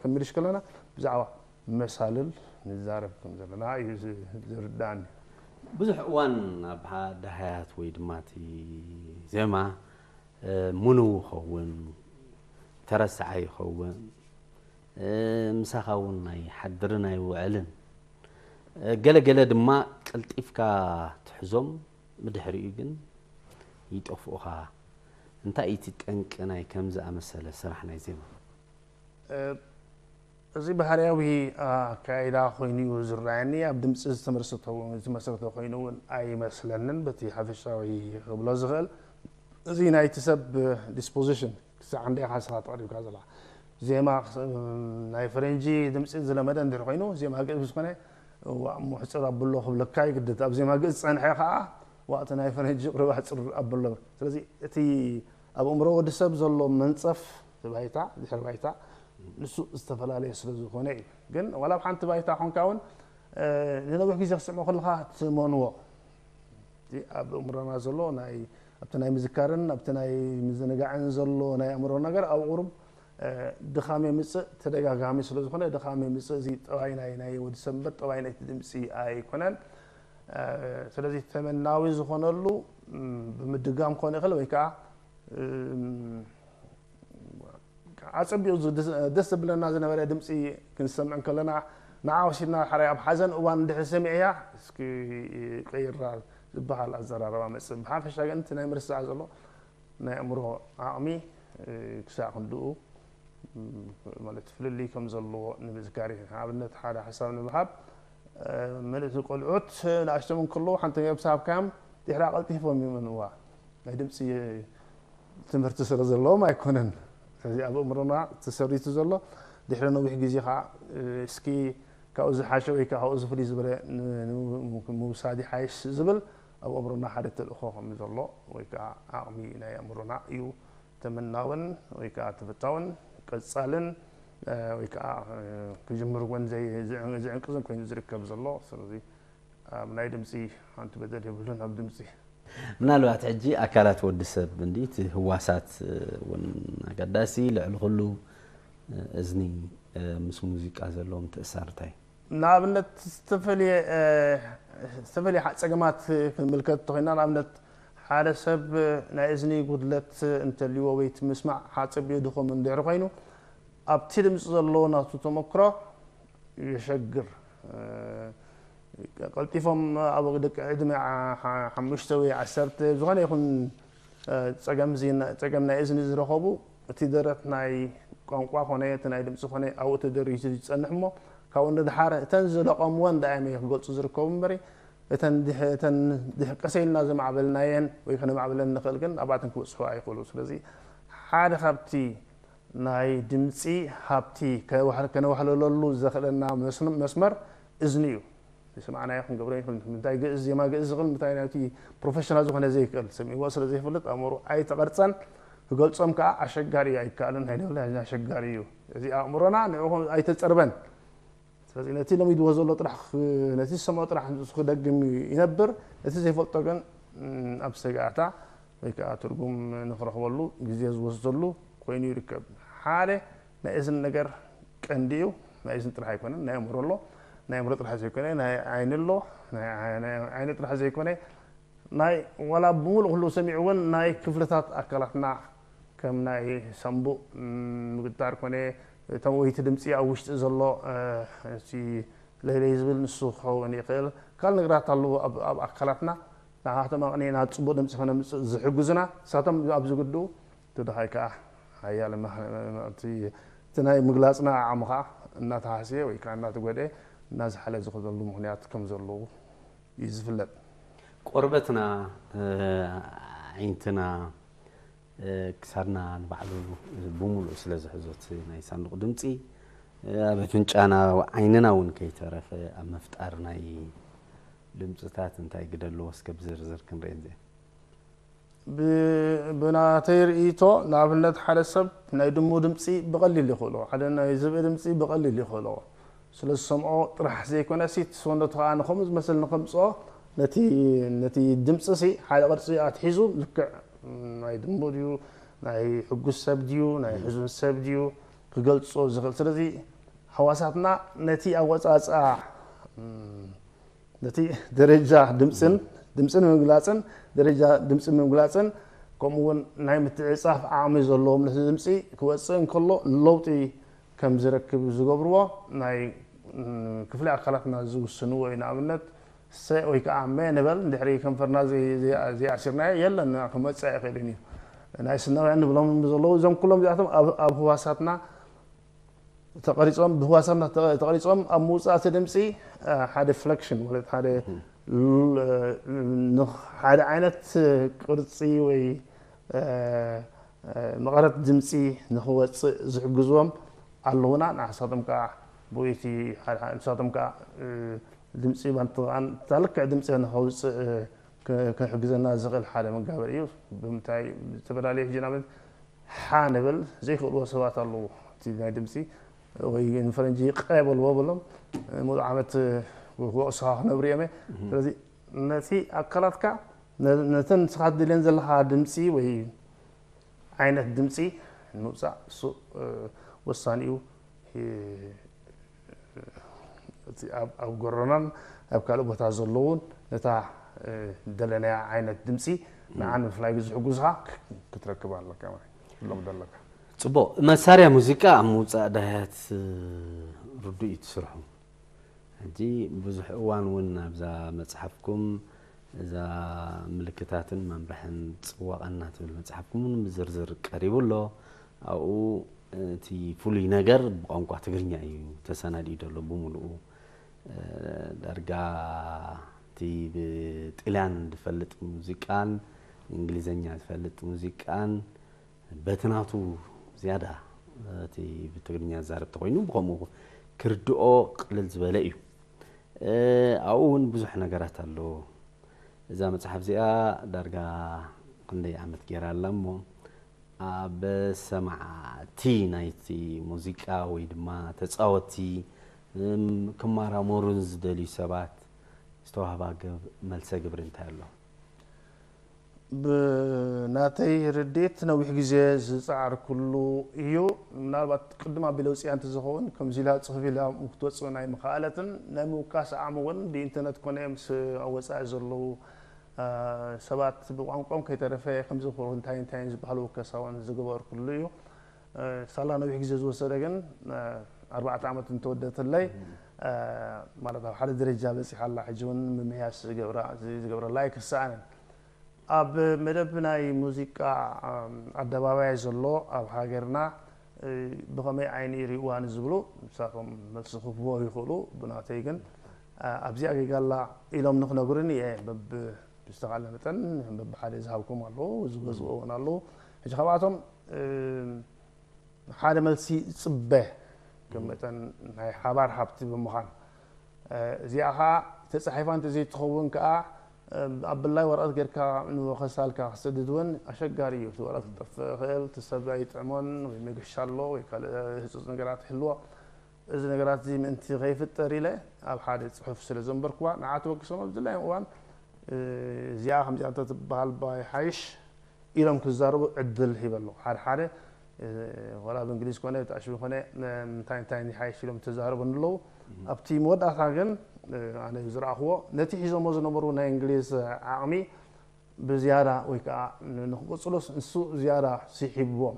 ክንምልሽ ከለና ብዛዕባ መሳልል ንዛረብ ከም ዘለና እዩ ዝርዳእኒ ብዙሕ እዋን ኣብ ደሃያት ወይ ድማ እቲ ዜማ ምንው ይኸውን፣ ተረሳዓይ ይኸውን፣ ምሳኻ እውን ኣይሓድርን ኣይውዕልን። ገለገለ ድማ ቀልጢፍካ ትሕዞም፣ ብድሕሪኡ ግን ይጠፍኡኻ። እንታይ እዩ እቲ ጠንቂ ናይ ከም ዝኣመሰለ ስራሕ ናይ ዜማ? እዚ ባህርያዊ ኣካይዳ ኮይኑ እዩ ዝረኣየኒ። ኣብ ድምፂ ዝተመሰረተ ዝተመሰረተ ኮይኑ እውን ኣይመስለንን። በቲ ሓፈሻዊ ክብሎ ዝኽእል እዚ ናይቲ ሰብ ዲስፖዚሽን ክሳዕ እንደ ኢኻ ስኻ ተቕሪብካ ዘላ ዜማ ናይ ፈረንጂ ድምፂ ዝለመደ እንድሕር ኮይኑ ዜማ ግእዝ ዝኾነ ዋእ እሞ ሕፅር ኣብሎ ክብለካ ይግድድ። ኣብ ዜማ ግእዝ ዝፀንሐ ከዓ ዋእቲ ናይ ፈረንጂ ቁሩብ ኣሕፅር ኣብሎ። ስለዚ እቲ ኣብ እምሮ ወዲ ሰብ ዘሎ መንፀፍ እቲ ባይታ ድሕሪ ባይታ ንሱ ዝተፈላለየ ስለ ዝኾነ እዩ። ግን ዋላ ኣብ ሓንቲ ባይታ ኮንካ እውን ንነዊሕ ግዜ ክስዕሞ ከለካ ትመንዎ እቲ ኣብ እምሮና ዘሎ ናይ ኣብቲ ናይ ምዝካርን ኣብቲ ናይ ምዝንጋዕን ዘሎ ናይ ኣእምሮ ነገር ኣብ ቁሩብ ድኻም የምፅእ። ተደጋጋሚ ስለ ዝኾነ ድኻም የምፅእ። እዚ ጠባይ ናይ ናይ ወዲ ሰብ እምበር ጠባይ ናይቲ ድምፂ ኣይኮነን። ስለዚ ተመናዊ ዝኾነሉ ብምድጋም ክኾን ይኽእል ወይ ከዓ ኣፀቢቑ ደስ ዘብለና ዝነበረ ድምፂ ክንሰምዕ ከለና ንዓ ወሲድና ሓራይ ኣብ ሓዘን እዋን እንድሕር ሰሚዕያ እስኪ ቀይራ ዝበሃል ኣዘራረባ መፅእ። ብሓፈሻ ግን እቲ ናይ ምርሳዕ ዘሎ ናይ ኣእምሮ ዓቕሚ ክሳዕ ክንድኡ ማለት ፍልልይ ከም ዘለዎ ንምዝካር እዩ። ንኣብነት ሓደ ሓሳብ ንምሃብ ምልእቲ ቆልዑት ንኣሽቶም እንከለዉ ሓንቲ ነብሲ ሃብካዮም ድሕራ ቀልጢፎም ይመንዋ ናይ ድምፂ ትምህርቲ ስለ ዘለዎም ኣይኮነን። ስለዚ ኣብ እምሮና ተሰሪቱ ዘሎ ድሕሪ ነዊሕ ግዜ ከዓ እስኪ ካብኡ ዝሓሸ ወይ ከዓ ካብኡ ዝፍልይ ዝበለ ምውሳድ ይሓይሽ ዝብል ኣብ እምሮና ሓደ ተልእኾ ከም ዘሎ ወይ ከዓ ዓቕሚ ናይ ኣእምሮና እዩ ተመናውን ወይ ከዓ ተፈታውን ቀፃልን ወይ ከዓ ክጅምር እውን ዝዕንቅዝን ኮይኑ ዝርከብ ዘሎ። ስለዚ ኣብ ናይ ድምፂ ሓንቲ በደል የብሉን ኣብ ድምፂ። ምናልባት ሕጂ ኣካላት ወዲ ሰብ እንዲ እቲ ህዋሳት እውን ኣገዳሲ ልዕሊ ኩሉ እዝኒ ምስ ሙዚቃ ዘለዎም ትእሳርታይ? ንኣብነት ዝተፈለየ ጸገማት ክንምልከት እንተኾይና ንኣብነት ሓደ ሰብ ናይ እዝኒ ጉድለት እንተልዎ ወይ እቲ ምስማዕ ሓጸቢኡ ድኹም እንድሕር ኮይኑ ኣብቲ ድምፂ ዘለዎ ናቱ ተመክሮ የሸግር። ቀልጢፎም ኣብ ደቂ ዕድመ ሓሙሽተ ወይ ዓሰርተ ዝኾነ ይኹን ፀገም ናይ እዝኒ ዝረኸቡ እቲ ደረት ናይ ቋንቋ ኮነ እቲ ናይ ድምፂ ኮነ ኣብኡ ተደሪቱ ዝፀንሕ እሞ ካብኡ ንድሓር እተን ዝለቐምወን ዳእመ ክገልፁ ዝርከቡ እምበሪ እተን ድሕ- እተን ድሕ- ቀሰ ኢልና ዘማዕበልናየን ወይ ከነማዕብለን ንኽእል ግን ኣብኣተን ክበፅሑ ኣይኽእሉ። ስለዚ ሓደ ካብቲ ናይ ድምፂ ሃብቲ ከነዋሕለለሉ ዘኽእለና መስመር እዝኒ እዩ። ዝሰማዕናዮ ክንገብሮ ይኽእል። ምንታይ ግእዝ ዜማ ግእዝ ዝኽእል ምንታይ ናይቲ ፕሮፌሽናል ዝኾነ ዘይክእል ሰሚዕዎ ስለ ዘይፈልጥ ኣእምሮ ኣይተቐርፀን ክገልፆም ከዓ ኣሸጋሪ እዩ ኣይከኣልን ናይ ደብላ ኣሸጋሪ እዩ። እዚ ኣእምሮና ንዕኡ ኣይተፀርበን። ስለዚ ነቲ ለሚድዎ ዘሎ ጥራሕ ነቲ ዝሰምዖ ጥራሕ ንሱ ክደግም ይነብር። ነቲ ዘይፈልጦ ግን ኣብ ሰጋእታ ወይ ከዓ ትርጉም ንክረኽበሉ ግዜ ዝወስደሉ ኮይኑ ይርከብ። ሓደ ናይ እዝኒ ነገር ቀንዲ እዩ። ናይ እዝኒ ጥራሕ ኣይኮነን፣ ናይ ኣእምሮ ኣሎ፣ ናይ ኣእምሮ ጥራሕ ዘይኮነ ናይ ዓይኒ ኣሎ። ናይ ዓይኒ ጥራሕ ዘይኮነ ናይ ዋላ ብምሉእ ኩሉ ሰሚዑ እውን ናይ ክፍልታት ኣካላትና ከም ናይ ሳምቡእ ምግጣር ኮነ እቶም ወይቲ ድምፂ ኣብ ውሽጢ ዘሎ ለይለይ ዝብል ንሱ ክኸውን ይኽእል። ካል ነገራት ኣለዎ ኣብ ኣካላትና ንዓቶም ኣቕኒዕና ፅቡቅ ድምፂ ከነምፅእ ዝሕግዙና ንሳቶም ኣብዚ ግድኡ እቲ ድኻይ ከዓ ሓያለ እቲ ናይ ምግላፅና ዓቕሚ ከዓ እናተሃስየ ወይ ከዓ እናተጎድአ እናዝሓለ ዝኸደሉ ምክንያት ከም ዘለዉ እዩ ዝፍለጥ። ቆርበትና ዓይንትና ክሳድና ንባዕሉ ብምሉእ ስለ ዝሕዞት ናይ ሳንዱቕ ድምፂ ኣብ ኣፍንጫና ዓይንና እውን ከይተረፈ ኣብ ምፍጣር ናይ ድምፅታት እንታይ ግደ ኣለዎ እስከ ብዝርዝር ክንርኢ ዜ ብናተይ ርእይቶ ንኣብነት ሓደ ሰብ ናይ ድሙ ድምፂ ብቐሊል ይኽእሎ ሓደ ናይ ዝብኢ ድምፂ ብቐሊል ይኽእሎ ስለ ዝሰምዖ ጥራሕ ዘይኮነ ሲ ሰውነቱ ከዓ ንከምኡ ዝመስል ንከምፅኦ ነቲ ነቲ ድምፂ ሲ ሓደ ቅርፂ ኣትሒዙ ልክዕ ናይ ድሙ ድዩ ናይ ሕጉስ ሰብ ድዩ ናይ ሕዙን ሰብ ድዩ ክገልፆ ዝኽእል ስለዚ ሓዋሳትና ነቲ ኣወፃፅኣ ነቲ ደረጃ ድምፅን ድምፅን ምግላፅን ደረጃ ድምፂ ምግላፅን ከምኡ እውን ናይ ምትዕፃፍ ዓቕሚ ዘለዎ ምልእቲ ድምፂ ክወፅእ እንከሎ ለውጢ ከም ዝረክብ ዝገብርዎ ናይ ክፍሊ ኣካላትና ዝውስንዎ እዩ። ንኣብነት ሰ ወይ ከዓ መ ንበል እንድሕሪ ከንፈርና ዘይኣሲርናዮ የለን ክመፅእ ኣይኽእልን እዩ። ናይ ስናውያን ንብሎም ዘለዉ እዞም ኩሎም እዚኣቶም ኣብ ህዋሳትና ተቐሪጾም ብህዋሳትና ተቐሪጾም ኣብ ምውፃእ እቲ ድምፂ ሓደ ፍለክሽን ማለት ሓደ ሓደ ዓይነት ቅርፂ ወይ መቐረት ድምፂ ንክወፅእ ዝሕግዝዎም ኣለውና። ንሳቶም ከዓ ብይቲ ንሳቶም ከዓ ድምፂ ባንትቃን እታ ልክዕ ድምፂ ንከውፅእ ክሕግዘና ዝኽእል ሓደ መጋበሪ እዩ። ብምንታይ ዝተፈላለዩ ሕጂ ንኣብነት ሓ ንብል ዘይክእልዎ ሰባት ኣለዉ። እቲ ናይ ድምፂ ወይ ንፈረንጂ ቀ በልዎ በሎም ሙሉእ ዓመት ክወቅሱኻ ክነብሩ እዮም። ስለዚ ነቲ ኣካላትካ ነተን ንስኻ ትደልየን ዘለኻ ድምፂ ወይ ዓይነት ድምፂ ንምውፃእ እሱ ወሳኒ እዩ። ኣብ ጎረናን ኣብ ካልእ ቦታ ዘለውን ነታ ደለናያ ዓይነት ድምፂ ንዓ ንምፍላይ ዝሕጉዝኻ ክትረክብ ኣለካ። ሎም ዘለካ ፅቡቅ መሳርያ ሙዚቃ ኣብ ምውፃእ ዳያት ርዱእ እዩ ትስርሑ። ሕጂ ብዙሕ እዋን እውን ኣብዛ መፅሓፍኩም እዛ ምልክታትን መምርሕን ፅዋቐና ትብል መፅሓፍኩም እውን ብዝርዝር ቀሪቡ ኣሎ። ኣብኡ እቲ ፍሉይ ነገር ብቋንቋ ትግርኛ እዩ ተሰናዲኡ ዘሎ ብምሉኡ። ዳርጋ እቲ ብጥልያን ዝፈልጥ ሙዚቃን እንግሊዘኛ ዝፈልጥ ሙዚቃን በቲ ናቱ ዝያዳ እቲ ብትግርኛ ዝዛረብ ተኮይኑ ብከምኡ ክርድኦ ቅልል ዝበለ እዩ። ኣብኡ እውን ብዙሕ ነገራት ኣሎ። እዛ መፅሓፍ እዚኣ ዳርጋ ክንደይ ዓመት ገይራ ኣላ እሞ ኣብ ሰማዕቲ ናይቲ ሙዚቃ ወይ ድማ ተፃወቲ ክማራመሩን ዝደልዩ ሰባት ዝተዋህባ መልሰ ግብሪ እንታይ ኣሎ? ብናተይ ርድኢት ነዊሕ ግዜ ዝፀዓርኩሉ እዩ። ምናልባት ቅድም ኣቢለ ውፅያ እንተዝኸውን ከምዚ ኢላ ፅሑፍ ኢላ ክትወፅእ ናይ ምኽኣለትን ናይ ምውካስ ዓቕሚ እውን ብኢንተርነት ኮነ ምስ ኣብ ወፃኢ ዘለዉ ሰባት ብቋንቋም ከይተረፈ ከምዚ እንታይ እንታይን ዝበሃል ውከሳ እውን ዝገበርኩሉ እዩ። ሳላ ነዊሕ ግዜ ዝወሰደ ግን ኣርባዕተ ዓመት እንተወደተለይ ማለት ኣብ ሓደ ደረጃ በፂሓ ኣላ። ሕጂ እውን ምምሕያሽ ዝገብረላ ኣይክሰኣንን። ኣብ መደብ ናይ ሙዚቃ ኣደባባይ ዘሎ ኣብ ሃገርና ብኸመይ ዓይኒ ይሪእዋ ንዝብሉ ንሳቶም መልሲ ክህብዎ ይኽእሉ። ብናተይ ግን ኣብዚኣ ጌጋ ኣላ ኢሎም ንክነግሩኒ እየ በብ ብዝተኻለ መጠን በብሓደ ዝሃብኩም ኣለዉ፣ ዝገዝኦ እውን ኣለዉ። ሕጂ ካብኣቶም ሓደ መልሲ ይፅበ ከም መጠን ናይ ሓባር ሃብቲ ብምዃን እዚኣ ከዓ ተፃሒፋ እንተዘይትኸውን ከዓ ኣብ ብላይ ወረቐት ጌርካ ንወኸሳልካ ክሰድድ እውን ኣሸጋሪ እዩ። እቲ ወረቐት ክጠፍእ ይኽእል፣ እቲ ሰብ ኣይጥዕሞን ወይ መገሻ ኣሎ ወይ ካልእ ህፁፅ ነገራት ይህልዎ። እዚ ነገራት እዚ ምእንቲ ከይፍጠር ኢለ ኣብ ሓደ ፅሑፍ ስለ ዘንበርኩዋ ንዓ ተበግሶም ኣብ ድላዮም እዋን እዚኣ ከምዚኣ እንተትበሃል ባይ ሓይሽ ኢሎም ክዛረቡ ዕድል ሂበ ኣለኹ። ሓደ ሓደ ወላ ብእንግሊዝ ኮነ ብጣዕሽቢ ኮነ እንታይ እንታይ ሓይሽ ኢሎም ተዛረቡ ኣለዉ። ኣብቲ መወዳእታ ግን ኣነ ዝረኣኽዎ ነቲ ሒዞሞ ዝነበሩ ናይ እንግሊዝ ዓቕሚ ብዝያዳ ወይ ከዓ ንክቅፅሉስ ንሱ ዝያዳ ስሒብዎም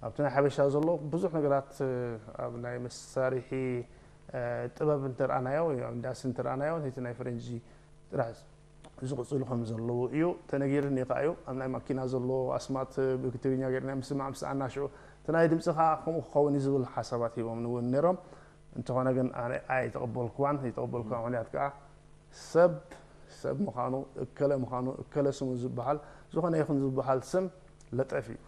ኣብቲ ናይ ሓበሻ ዘሎ ብዙሕ ነገራት ኣብ ናይ መሳርሒ ጥበብ እንተርኣናዮ ወይ ኣብ ኢንዳስትሪ እንተርኣናዮ ነቲ ናይ ፈረንጂ ጥራሕ ዝቕፅሉ ከም ዘለዉ እዩ ተነጊርኒ ከዓ እዩ። ኣብ ናይ ማኪና ዘሎ ኣስማት ብትግርኛ ጌርና ምስማዕ ምስ ኣናሽዑ እቲ ናይ ድምፂ ከዓ ከምኡ ክኸውን እዩ ዝብል ሓሳባት ሂቦም እውን ነይሮም። እንተኾነ ግን ኣነ ኣይተቐበልኩዋን። ዘይተቐበልኩዋ ምክንያት ከዓ ሰብ ሰብ ምዃኑ እከለ ምዃኑ እከለ ስሙ ዝበሃል ዝኾነ ይኹን ዝበሃል ስም ለጠፍ እዩ።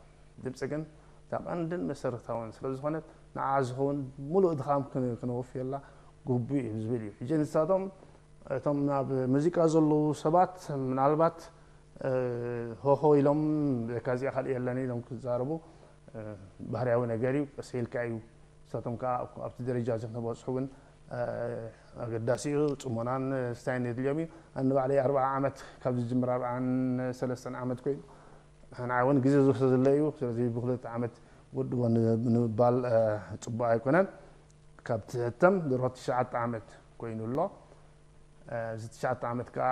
ድምፂ ግን እታ ቀንድን መሰረታውን ስለ ዝኾነት ንዓ ዝኸውን ሙሉእ ድኻም ክነወፍየላ ግቡእ እዩ ዝብል እዩ። ሕጂ ንሳቶም እቶም ናብ ሙዚቃ ዘለዉ ሰባት ምናልባት ሆሆ ኢሎም በካ እዚኣ ካልእ የለን ኢሎም ክዛረቡ ባህርያዊ ነገር እዩ። ቀስ ኢልካ እዩ ንሳቶም ከዓ ኣብቲ ደረጃ እዚ ክነበፅሑ እውን ኣገዳሲ እዩ። ፅሞናን ስታይን የድልዮም እዩ። ኣነ ባዕለይ ኣርብዓ ዓመት ካብ ዝጅምር ኣርብዓን ሰለስተን ዓመት ኮይኑ ንዓይ እውን ግዜ ዝወሰደለይ እዩ። ስለዚ ብክልተ ዓመት ወድቦ ንምባል ፅቡቅ ኣይኮነን። ካብ ትሕተም ድሮ ትሽዓተ ዓመት ኮይኑ ኣሎ። እዚ ትሽዓተ ዓመት ከዓ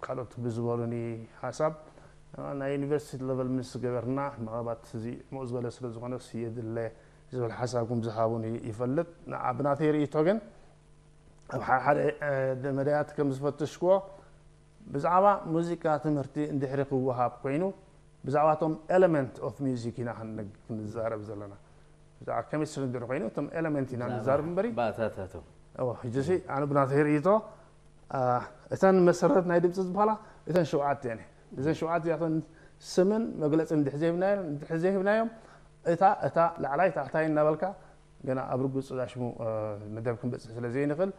ካልኦት ብዝበሉኒ ሓሳብ ናይ ዩኒቨርሲቲ ለቨል ምስ ገበርና ምናልባት እዚ ምኡ ዝበለ ስለ ዝኾነስ የድለ ዝብል ሓሳብ ከም ዝሃቡኒ ይፈልጥ። ንዓ ብናተይ ርእይቶ ግን ኣብ ሓደ መዳያት ከም ዝፈተሽክዎ ብዛዕባ ሙዚቃ ትምህርቲ እንድሕሪ ክወሃብ ኮይኑ ብዛዕባቶም ኤለመንት ኦፍ ሚዚክ ኢና ክንዛረብ ዘለና። ብዛዕባ ኬሚስትሪ እንድሕሪ ኮይኑ እቶም ኤለመንት ኢና ንዛረብ እምበሪ ባእታታቶም ሕጂ ሲ ኣነ ብናተይ ርእይቶ እተን መሰረት ናይ ድምፂ ዝበሃላ እተን ሸውዓተ እየን። እዘን ሸውዓተ እዚኣተን ስምን መግለፂ እንድሕር ዘይብናዮም እታ እታ ላዕላይ ታሕታይ እናበልካ ገና ኣብ ርጉፅ ዳሽሙ መደብ ክንበፅሕ ስለ ዘይንኽእል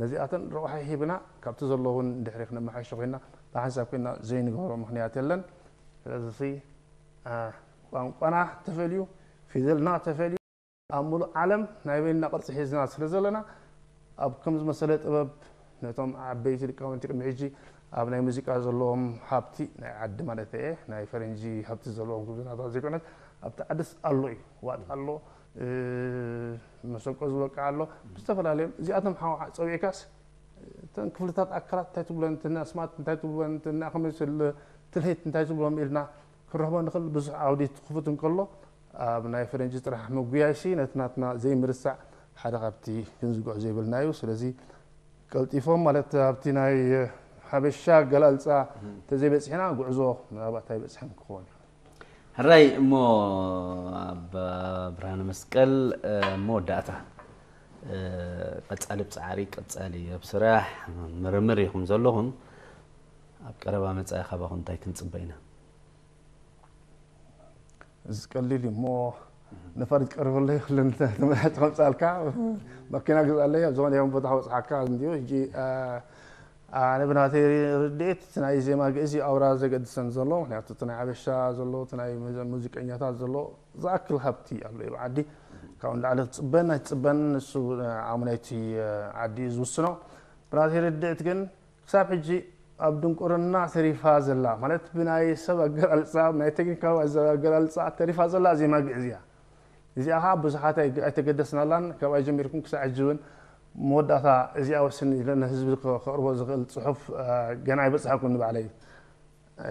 ነዚኣተን ረቑሒ ሂብና ካብቲ ዘለውን እንድሕሪ ክነመሓይሾ ኮይና ብሓንሳብ ኮይና ዘይንገብሮ ምክንያት የለን። ስለዚ ቋንቋና ተፈልዩ ፊደልና ተፈልዩ ኣብ ሙሉእ ዓለም ናይ በይንና ቅርፂ ሒዝና ስለ ዘለና ኣብ ከም ዝመሰለ ጥበብ ነቶም ዓበይቲ ሊቃውንቲ ቅድሚ ሕጂ ኣብ ናይ ሙዚቃ ዘለዎም ሃብቲ ናይ ዓዲ ማለት እየ ናይ ፈረንጂ ሃብቲ ዘለዎም ክብዝናታት ዘይኮነት ኣብቲ ዓድስ ኣሎ እዩ ዋጥ ኣሎ መሰንቆ ዝበቅዓ ኣሎ ብዝተፈላለዮም እዚኣቶም ሓ ፀዊዕካስ እተን ክፍልታት ኣካላት እንታይ ትብለን እተን ኣስማት እንታይ ትብለን እተን ኣኽመስል ትልሂት እንታይ ትብሎም ኢልና ክረኽቦ ንኽእል ብዙሕ ዓውዲ ክፉት እንከሎ ኣብ ናይ ፈረንጂ ጥራሕ ምጉያይሲ ነቲ ናትና ዘይምርሳዕ ሓደ ካብቲ ክንዝግዖ ዘይብልና እዩ ስለዚ ቀልጢፎም ማለት ኣብቲ ናይ ሓበሻ ኣገላልፃ ተዘይበፂሕና ጉዕዞ ምናልባት ኣይበፅሕን ክኸውን እዩ ሕራይ እሞ ኣብ ብርሃነ መስቀል መወዳእታ ቀፃሊ ብፃዕሪ ቀፃሊ ኣብ ስራሕ ምርምር ኢኹም ዘለኹም ኣብ ቀረባ መፃኢ ካባኹም እንታይ ክንፅበ ኢና እዚ ቀሊል እዩ እሞ ነፋሪት ቀርበለይ ኩለን ተመሓጭ ከምፃልካ መኪና ግዛለይ ኣብ ዝኾነ ይኹን ቦታ ከበፅሓካ እንዲዩ ሕጂ ኣነ ብናተይ ርድኢት እቲ ናይ ዜማ ግእዝ እዩ ኣውራ ዘገድሰን ዘሎ ምክንያቱ እቲ ናይ ሓበሻ ዘሎ እቲ ናይ ሙዚቀኛታት ዘሎ ዝኣክል ሃብቲ ኣሎ እዩ ዓዲ ካብኡ ንላዕሊ ክትፅበን ኣይትፅበን ንሱ ዓሙ ናይቲ ዓዲ እዩ ዝውስኖ ብናተይ ርድእት ግን ክሳብ ሕጂ ኣብ ድንቁርና ተሪፋ ዘላ ማለት ብናይ ሰብ ኣገላልፃ ናይ ቴክኒካዊ ኣገላልፃ ተሪፋ ዘላ ዜማ ግእዝ እያ እዚኣ ከዓ ብዙሓት ኣይተገደስናላን ካብኣ ጀሚርኩም ክሳብ ሕጂ እውን መወዳእታ እዚኣ ወስን ኢለ ንህዝቢ ከቕርቦ ዝኽእል ፅሑፍ ገና ኣይበፅሐኩም ንባዕለይ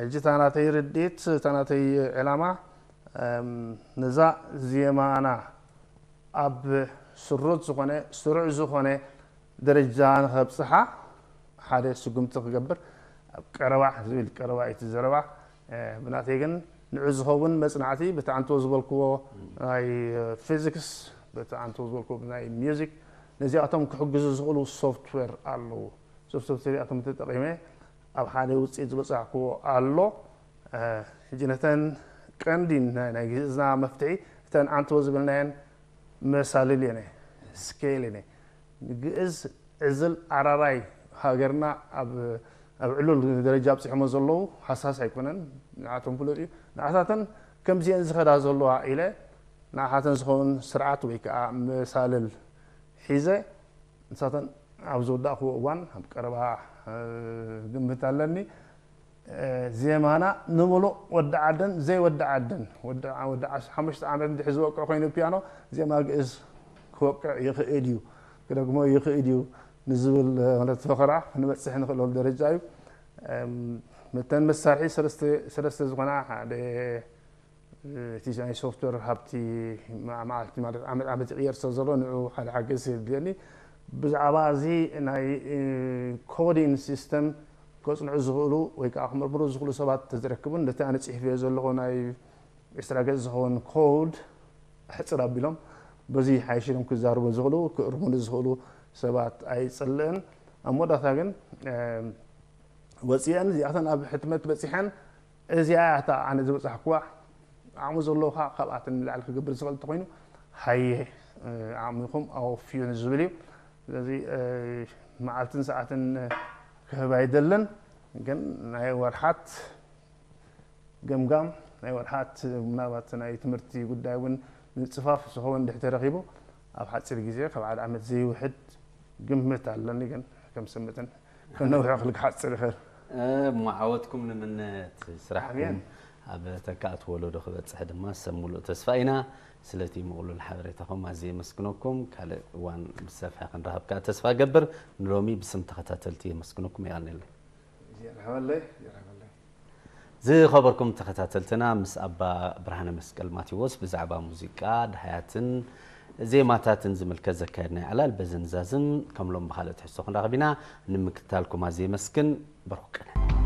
ሕጂ እታ ናተይ ርድኢት እታ ናተይ ዕላማ ነዛ ዜማና ኣብ ስሩት ዝኾነ ስሩዕ ዝኾነ ደረጃ ንኸብፅሓ ሓደ ስጉምቲ ክገብር ኣብ ቀረባ ዝብል ቀረባ እቲ ዘረባ ብናተይ ግን ንዑ ዝኸውን መፅናዕቲ በቲ ኣንቶ ዝበልክዎ ናይ ፊዚክስ በቲ ኣንቶ ዝበልክዎ ናይ ሚዚክ ነዚኣቶም ክሕግዙ ዝኽእሉ ሶፍትዌር ኣለዉ። እዞም ሶፍትዌር እዚኣቶም ተጠቒመ ኣብ ሓደ ውፅኢት ዝበፃሕክዎ ኣሎ። ሕጂ ነተን ቀንዲ ናይ ግእዝና መፍትሒ እተን ኣንቶ ዝብልናየን መሳልል እየን ስኬል እየን ግእዝ ዕዝል ኣራራይ ሃገርና ኣብ ዕሉል ደረጃ ኣብፂሖሞ ዘለዉ ሃሳስ ኣይኮነን ንዓቶም ፍሉጥ እዩ ንዓታተን ከምዚአን ዝኸዳ ዘለዋ ኢለ ንዓታተን ዝኸውን ስርዓት ወይ ከዓ መሳልል ሒዘ ንሳተን ኣብ ዝወዳእክዎ እዋን ኣብ ቀረባ ግምት ኣለኒ ዜማና ንምሉእ ወዲ ዓደን ዘይወዲ ዓደን ወዲ ሓሙሽተ ዓመት እንድሕር ዝወቅዕ ኮይኑ ፒያኖ ዜማ ግእዝ ክወቅዕ ይኽእል እዩ ክደግሞ ይኽእል እዩ ንዝብል ፈኸራ ክንበፅሕ ንኽእለሉ ደረጃ እዩ። እተን መሳርሒ ሰለስተ ዝኾና ሓደ እቲ ናይ ሶፍትዌር ሃብቲ መዓልቲ ማለት ዓመት ዓመት ይቕየር ስለ ዘሎ ንዑ ሓደ ሓገዝ የድልየኒ። ብዛዕባ እዚ ናይ ኮዲንግ ሲስተም ከፅንዑ ዝኽእሉ ወይ ከዓ ክምርምሩ ዝኽእሉ ሰባት ተዝረክቡን ነቲ ኣነ ፅሒፈዮ ዘለኹ ናይ ዕስራ ገፅ ዝኸውን ኮድ ሕፅር ኣቢሎም በዚ ሓይሽ ኢሎም ክዛረቡ ዝኽእሉ ክእርሙሉ ዝኽእሉ ሰባት ኣይፅልእን። ኣብ መወዳእታ ግን ወፂአን እዚኣተን ኣብ ሕትመት በፂሐን እዚኣ እያ እታ ኣነ ዝበፃሕኩዋ ዓቕሚ ዘለዎ ከዓ ካብኣተን ንላዕሊ ክገብር ዝኽእል እንተኮይኑ ሃየ ዓቕሚኹም ኣወፍዩ ንዝብል እዩ። ስለዚ መዓልትን ሰዓትን ክህብ ኣይደልን፣ ግን ናይ ወርሓት ገምጋም ናይ ወርሓት ምናልባት ናይ ትምህርቲ ጉዳይ እውን ምፅፋፍ ዝኸውን እንድሕር ተረኺቡ ኣብ ሓፂር ግዜ ካብ ሓደ ዓመት ዘይውሕድ ግምት ኣለኒ፣ ግን ከም ስምትን ከነውሕዮ ክሓፅር ይኽእል። እሞ ዓወትኩም ንምነ፣ ስራሕኩም ኣብ ተካእቲ ወለዶ ክበፅሕ ድማ ሰብ ሙሉእ ተስፋ ኢና። ስለቲ ምቕሉል ሓበሬታኹም ኣዝየ የመስግነኩም። ካልእ እዋን ብሰፊሐ ክንራኸብ ከኣ ተስፋ ገብር። ንሎሚ ብስም ተኸታተልቲ የመስግነኩም። የቐንየለይ። የርሃበለይ የርሃበለይ። ዝኸበርኩም ተኸታተልትና፣ ምስ ኣባ ብርሃነ መስቀል ማቴዎስ ብዛዕባ ሙዚቃ፣ ደሃያትን ዜማታትን ዝምልከት ዘካየድናዮ ዕላል በዚ ንዛዝም። ከም ሎም ብኻልእ ትሕዝቶ ክንራኸብ ኢና። ንምክትታልኩም ኣዝየ የመስግን። በርኩ ቀነ።